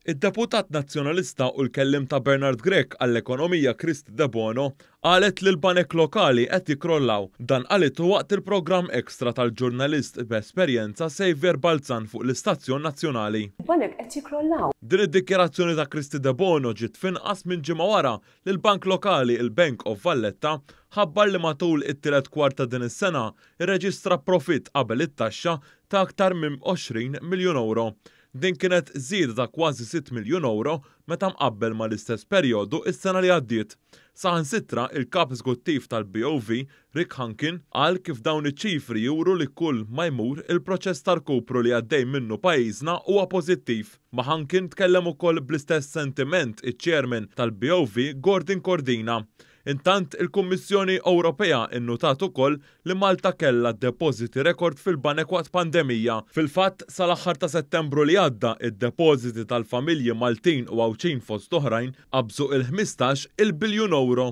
Id-deputat Nazzjonalista u l-kelliem ta' Bernard Grech għall-Ekonomija Kristy Debono qalet li l-banek lokali qed jikkrollaw. Dan qalitu waqt il-programm Extra tal-ġurnalist b'esperjenza Saviour Balzan fuq l-istazzjon nazzjonali. Il-banek qed jikkrollaw. Din id-dikjarazzjoni ta' Kristy Debono ġiet f'inqas minn ġimgħa wara li l-bank lokali, il-Bank of Valletta, ħabbar li matul it-tielet kwart ta' din is-sena rreġistra profitt qabel it-taxxa ta' aktar minn 20 miljun ewro. Din kienet żieda ta' kważi sitt miljun ewro meta mqabbel mal-istess perjodu s-sena li għaddiet. Saħansitra, il-Kap Eżekuttiv tal-BOV, Rick Hunkin, qal kif dawn iċ-ċifri juru li kull ma jmur il-proċess ta' rkupru li għaddej minnu pajjiżna huwa pożittiv. Ma' Hunkin tkellem ukoll bl-istess sentiment iċ-Chairman tal-BOV Gordon Cordina. Intant, il-Kummissjoni Ewropea nnutat ukoll li Malta kellha depożiti rekord fil-banek waqt pandemija. Fil-fatt, sal-aħħar ta' Settembru li għadda, id-depożiti tal-familji Maltin u Għawdxin fost oħrajn qabżu il-15 il biljun ewro.